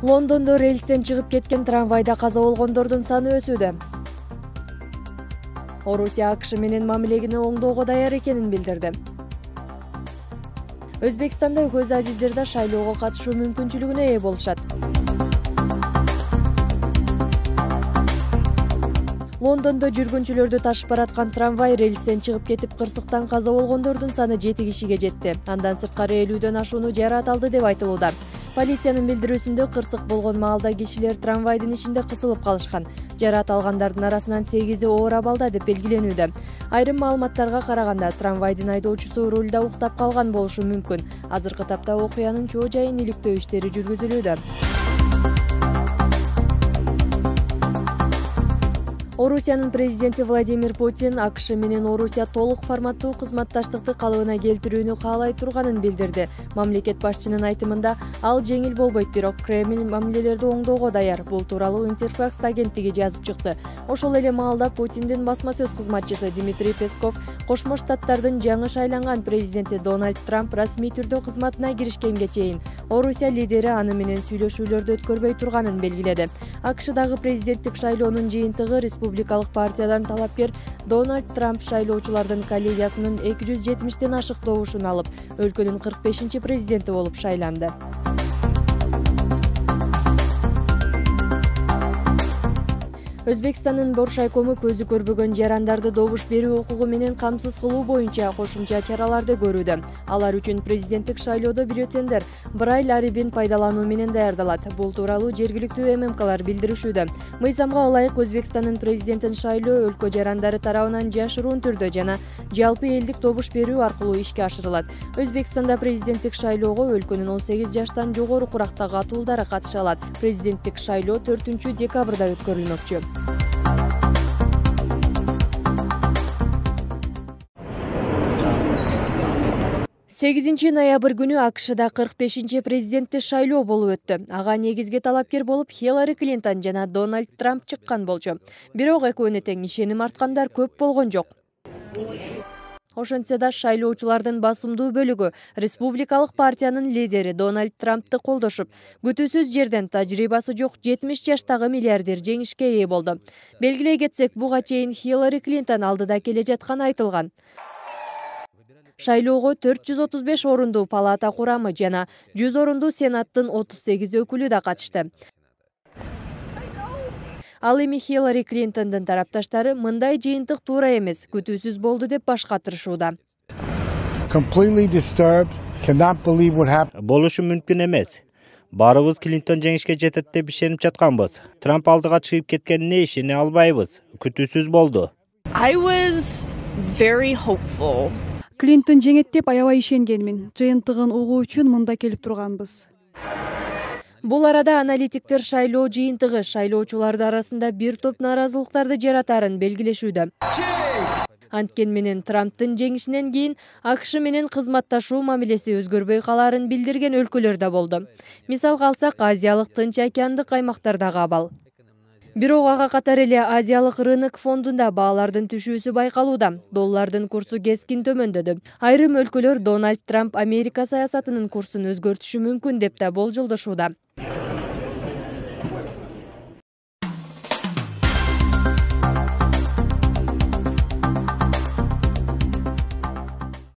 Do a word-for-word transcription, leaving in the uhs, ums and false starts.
Лондондо рельстен чыгып кеткен трамвайда каза болгондордун саны өсүүдө. Орусия АКШ менен мамилени оңдоого даяр экенин билдирди. Өзбекстанда көз азиздер да шайлоого катышуу мүмкүнчүлүгүнө ээ болушат. Лондондо жүргүнчүлөрдү ташып бараткан трамвай рельстен чыгып кетип кырсыктан каза болгондордун саны жети кишиге жетти. Андан сырткары элүүдөн ашууну жараат алды деп айтылууда. Полициянын билдирүүсүндө кырсык болгон маалда кишилер трамвайдын ичинде кысылып калышкан. Жараат алгандардын арасынан сегизи оор абалда деп белгиленүүдө. Айрым маалыматтарга караганда трамвайдын айдоочусу рулда уктап калган болушу мүмкүн. Азыркы тапта окуянын чоо жайын иликтөө иштери жүргүзүлүүдө. Орусиянын президенти Владимир Путин АКШ менен Орусия толук форматтуу кызматташтыкты калыбына келтирүүнү каалай турганын билдирди. Мамлекет башчынын айтымында ал жеңил болбойт, бирок Кремль мамилелерди оңдоого даяр. Бул тууралуу Интерфакс агенттиги жазып чыкты. Ошол эле маалда Путиндин басма сөз кызматчысы Дмитрий Песков Кошмо Штаттардын жаңы шайланган президенти Дональд Трамп расмий түрдө кызматына киришкенге чейин Орусия лидери аны менен сүйлөшүүлөрдү өткөрбөй турганын белгиледи. АКШдагы президенттик шайлоонун жыйынтыгы Республикалык партиядан талапкер Дональд Трамп шайлоочулардын коллегиясынын эки жүз жетимиштен ашык добушун алып, өлкөнүн кырк бешинчи президенти болуп шайланды. Өзбекстандын Боршайкому көзү көрбөгөн жарандарды добуш берүү укугу менен камсыз кылуу боюнча кошумча чараларды көрүүдө. Алар үчүн президенттик шайлоодо бюллетендер Брайль арибин пайдалануу менен даярдалат. Бул тууралуу жергиликтүү ММКлар билдиришүүдө. Мыйзамга ылайык Өзбекстандын президентин шайлоо өлкө жарандары тарабынан жашыруун түрдө жана жалпы элдик добуш берүү аркылуу ишке ашырылат. Өзбекстанда президенттик шайлоого өлкөнүн он сегиз жаштан жогору курактагы атуулдары катыша алат. Президенттик шайлоо төртүнчү декабрда өткөрүлмөкчү. сегизинчи ноябрь күнү АКШда кырк бешинчи президенттик шайлоо болуп өттү. Ага негизги талапкер болуп Хиллари Клинтон жана Дональд Трамп чыккан болчу. Бирок экөөнө тең ишеним арткандар көп болгон жок. Ошентсе да шайлоочулардын басымдуу бөлүгү Республикалык партиянын лидери Дональд Трампты колдошуп, күтүүсүз жерден тажрыйбасы жок жетимиш жаштагы миллиардер жеңишке ээ болду. Белгилей кетсек, буга чейин Хиллари Клинтон алдыда келе жатканы айтылган. Шайлоого төрт жүз отуз беш орундуу палата курамы жана жүз орундуу Сенаттын отуз сегиз өкүлү да катышты. Ал эми Хиллари Клинтондун тарапташтары мындай жыйынтык туура эмес, күтүүсүз болду деп баш катырышууда. Болушу мүмкүн эмес. Баарыбыз Клинтон жеңишке жетет деп ишенип жатканбыз. Трамп алдыга чыгып кеткенине ишене албайбыз. Күтүүсүз болду. I was very hopeful. Клинтон жеңет деп аябай ишенгенмин. Жыйынтыгын угуу үчүн мында келип турганбыз. Бул арада аналитиктер шайлоо жыйынтыгы шайлоочуларды арасында бир топ нааразылыктарды жаратарын белгилешүүдө. Анткен менен Трамптын жеңишинен кийин АКШ менен кызматташуу мамилеси өзгөрбөй калаарын билдирген өлкөлөр да болду. Мисалга алсак, Азиялык Тынч океандык аймактардагы абал. Бирок ага катар эле Азиялык рынок фондунда баалардын түшүүсү байкалууда. Доллардын курсу кескин төмөндөдү. Айрым өлкөлөр Дональд Трамп Америка саясатынын курсун өзгөртүшү мүмкүн деп да болжолдошууда.